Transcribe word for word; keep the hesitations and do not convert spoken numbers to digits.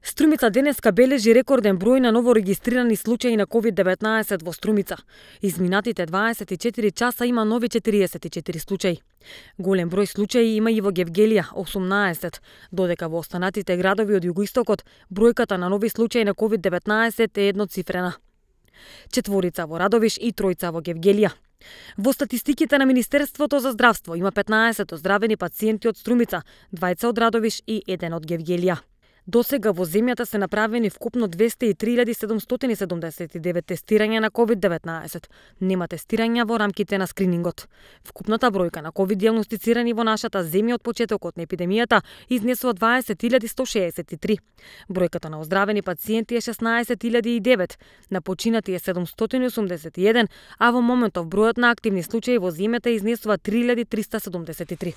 Струмица денеска бележи рекорден број на новорегистрирани случаи на ковид деветнаесет во Струмица. Изминатите дваесет и четири часа има нови четириесет и четири случаи. Голем број случаи има и во Гевгелија осумнаесет, додека во останатите градови од југоистокот бројката на нови случаи на ковид деветнаесет е едноцифрена. Четворица во Радовиш и тројца во Гевгелија. Во статистиките на Министерството за здравство има петнаесет оздравени пациенти од Струмица, двајца од Радовиш и еден од Гевгелија. До сега во земјата се направени вкупно двесте и три илјади седумстотини и седумдесет и девет тестирања на ковид деветнаесет. Нема тестирања во рамките на скринингот. Вкупната бројка на ковид дијагностицирани во нашата земја од почетокот на епидемијата изнесува дваесет илјади сто шеесет и три. Бројката на оздравени пациенти е шеснаесет илјади и девет, на починати е седумстотини и осумдесет и еден, а во моментов бројот на активни случаи во земјата изнесува три илјади триста седумдесет и три.